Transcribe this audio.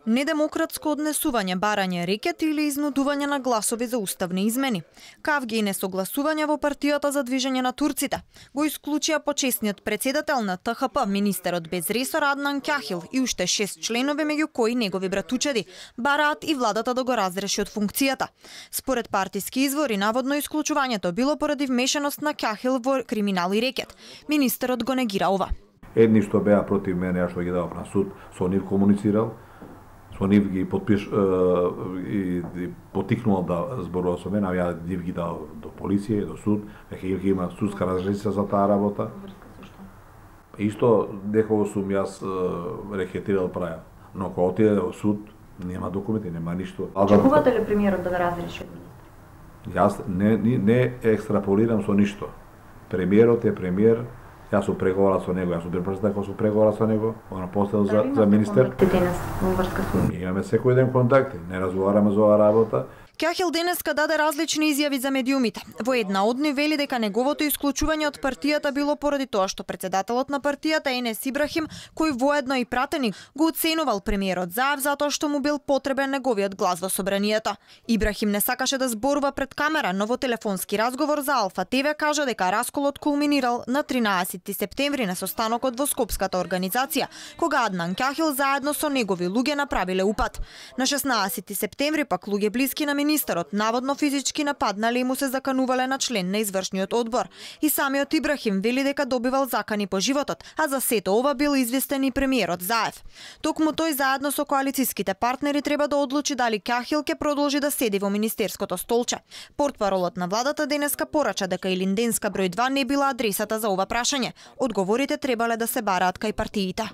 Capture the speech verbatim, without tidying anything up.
Недемократско однесување, барање рекет или изнудување на гласови за уставни измени. Кавги и несогласување во партијата за движење на турците. Го исклучија почесниот председател на Т Х П, министерот без ресор Аднан Кяхил и уште шест членови, меѓу кои негови братучеди, бараат и владата да го разреши од функцијата. Според партиски извори, наводно исклучувањето било поради вмешаност на Кяхил во криминал и рекет. Министерот го негира ова. Едни што беа против мене, ја што ги давав на суд, со нив комуницирал, со нив ги подпиш и, и потикнувал да зборува со мене, а ја нив ги дал до полиција и до суд, веќе ги има судска разрешица за таа работа. Исто некого сум јас рекетирал праја, но кога отиде во суд, нема документи, нема ништо. Очекувате ли премиерот да ве разреши од министер? Јас не, не, не екстраполирам со ништо. Премиерот е премиер. Јас сум преговарал со него, јас сум бил председател кога сум преговарал со него, она постел за, за министер. Ние имаме секој ден контакти, не разговараме за оваа работа. Кяхил денеска даде различни изјави за медиумите. Во една од нив вели дека неговото исклучување од партијата било поради тоа што председателот на партијата Енес Ибрахим, кој воедно и пратеник, го оценувал премиерот Заев затоа што му бил потребен неговиот глас во собранието. Ибрахим не сакаше да зборува пред камера, но во телефонски разговор за Алфа Т В кажа дека расколот кулминирал на тринаесетти септември на состанокот во Скопската организација, кога Аднан Кяхил заедно со негови луѓе направиле упад. На шеснаесетти септември пак луѓе блиски на министерот наводно физички нападнале и му се заканувале на член на извршниот одбор. И самиот Ибрахим вели дека добивал закани по животот, а за сето ова бил известен и премиерот Заев. Токму тој заедно со коалициските партнери треба да одлучи дали Кяхил ќе продолжи да седи во министерското столче. Портпаролот на владата денеска порача дека Илинденска број два не била адресата за ова прашање. Одговорите требале да се бараат кај партиите.